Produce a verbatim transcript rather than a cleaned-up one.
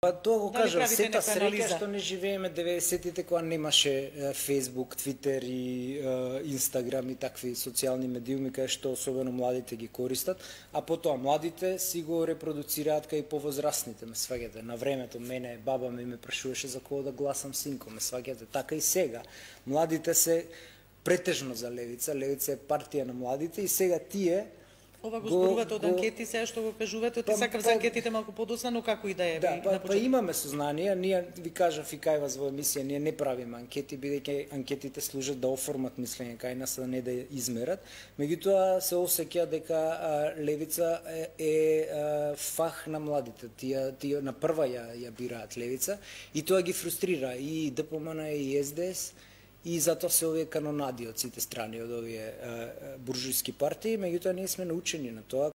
Па тоа го Дали кажам, правите сета некоја среќа анализа? што не живееме деветдесетите кога немаше е, Facebook, Twitter и е, Instagram и такви социјални медиуми кај што особено младите ги користат, а потоа младите си го репродуцираат кај повозрастните, ме сваѓате. На времето мене баба ми ме прашуваше за кого да гласам, синко, ме сваѓате. Така и сега. Младите се претежно за левица, левица е партија на младите и сега тие Ова го го- зборувате од го- анкети, сега што го кажувате, Па, ти сакав за па- анкетите малку подоцна, но како и да е. Да, ви, па, на па почеток. имаме сознание, ние ви кажав и кај вас во емисија, ние не правиме анкети, бидејќи анкетите служат да оформат мислење кај нас, а не да ја измерат. Меѓутоа се осеќа дека а, левица е, е а, фах на младите. Тие, тие на прва ја, ја бираат левица и тоа ги фрустрира и ДПМН и С Д С. И затоа се овие канонади од сите страни од овие а, буржујски партии, меѓутоа ние сме научени на тоа.